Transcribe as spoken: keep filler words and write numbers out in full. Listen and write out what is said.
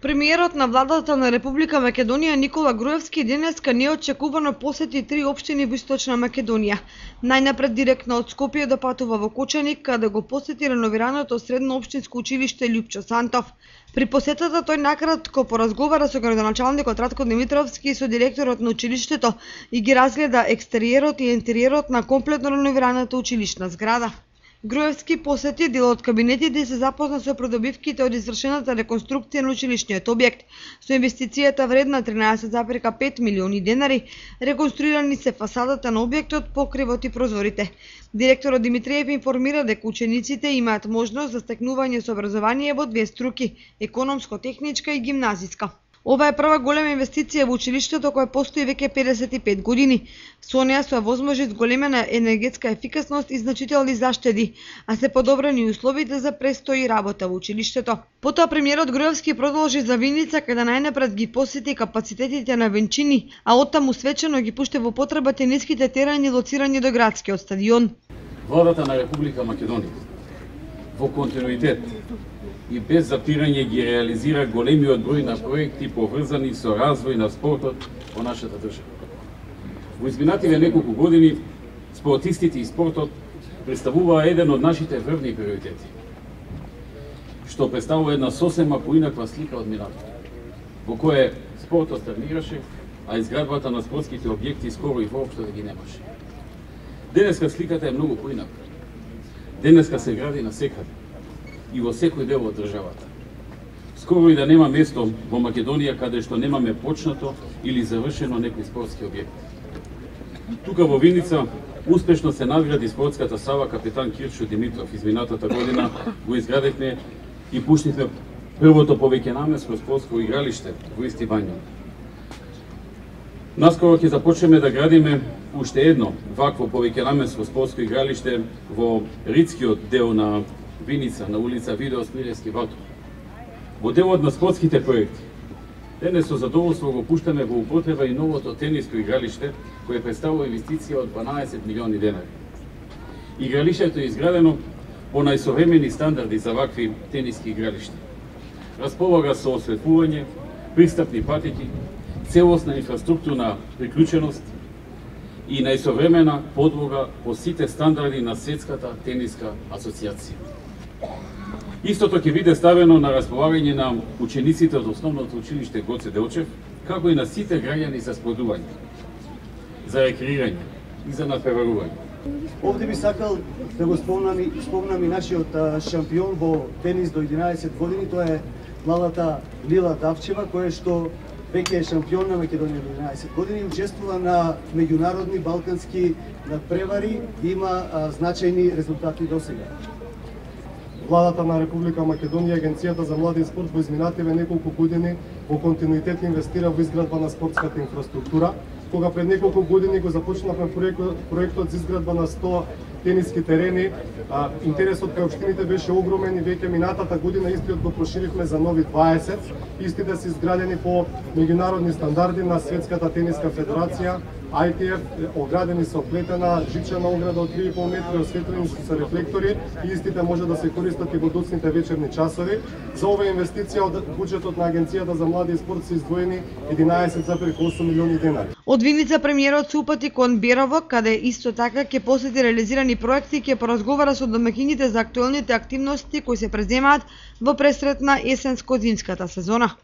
Премиерот на владата на Република Македонија Никола Груевски денеска неочекувано посети три општини во Источна Македонија. Најнапред директно од Скопје да патува во Кочаник, каде го посети реновираното средно општинско училиште Љупчо Сантов. При посетата тој накратко поразговара со градоначалникот Ратко Димитровски и со директорот на училиштето и ги разгледа екстериерот и интериерот на комплетно реновираната училишна зграда. Груевски посети дел од кабинетите и се запозна со придобивките од извршената реконструкција на училишниот објект. Со инвестицијата вредна тринаесет зарез пет милиони денари, реконструирани се фасадата на објектот, покривот и прозорите. Директорот Димитриев информира дека учениците имаат можност за стекнување со образование во две струки – економско-техничка и гимназиска. Ова е прва голема инвестиција во училиштето која постои веќе педесет и пет години. Со неа се возможи зголемена енергетска ефикасност и значителни заштеди, а се подобрени условите за престој и работа во училиштето. Потоа премиерот Груевски продолжи за Виница, каде најнапред ги посети капацитетите на Венчини, а оттаму свечено ги пушти во потреба тениските терени лоцирани до градскиот стадион. Владата на Република Македонија во континуитет и без запирање ги реализира големиот број на проекти поврзани со развој на спортот во нашата држава. Во изминативе неколку години спортистите и спортот представуваа еден од нашите врвни приоритети, што представува една сосема поинаква слика од минатото, во кое спортот стагнираше, а изградбата на спортските објекти скоро и воопшто да ги немаше. Денеска сликата е многу поинаква. Денеска се гради на секаде и во секој дел од државата. Скоро и да нема место во Македонија каде што немаме почнато или завршено некој спортски објект. Тука во Виница успешно се надгради спортската сала капитан Кирчо Димитров. Изминатата година го изградивме и пуштивме првото повеќенамensко спортско игралиште во Исти Бања. Наскоро ќе започнеме да градиме уште едно вакво повеќенамensко спортско игралиште во ридскиот дел на Виница, на улица Видео Смилевски Батов. Во делот на спортските проекти, денес со задоволство го пуштаме во употреба и новото тениско игралиште, кое представува инвестиција од дванаесет милиони денари. Игралиштето е изградено по најсовремени стандарди за вакви тениски игралишта. Располага со осветлување, пристапни патеки, целосна инфраструктурна приклученост и најсовремена подлога по сите стандарди на Светската тениска асоцијација. Истото ќе биде ставено на располагање на учениците од основното училиште Гоце Делчев, како и на сите граѓани за сподување, за рекреирање и за надпреварување. Овде би сакал да го спомнам и, спомнам и нашиот шампион во тенис до единаесет години, тоа е малата Лила Давчева, која што веќе е шампион на Македонија до единаесет години, учествува на меѓународни балкански надпревари и има а, значајни резултати досега. Владата на Република Македонија, Агенцијата за млади и спорт во изминативе неколку години во континуитет инвестира во изградба на спортската инфраструктура. Кога пред неколку години го започнавме проектот, проектот за изградба на сто тениски терени, а, интересот кај општините беше огромен и веќе минатата година истиот го проширивме за нови дваесет. Истите се изградени по меѓународни стандарди на Светската тениска федерација, Ай Ти Еф, оградени со плетена жичена ограда од три и пол метри, осветлени со рефлектори и истите може да се користат и во доцните вечерни часови. За ова инвестиција од буџетот на Агенцијата за млади и спорт се издвоени единаесет зарез осум милиони денари. Од Виница премиерот се упати кон Берово, каде исто така ќе посети реализирани проекти и ќе поразговара со домаќините за актуелните активности кои се преземаат во пресретна есенско-зимската сезона.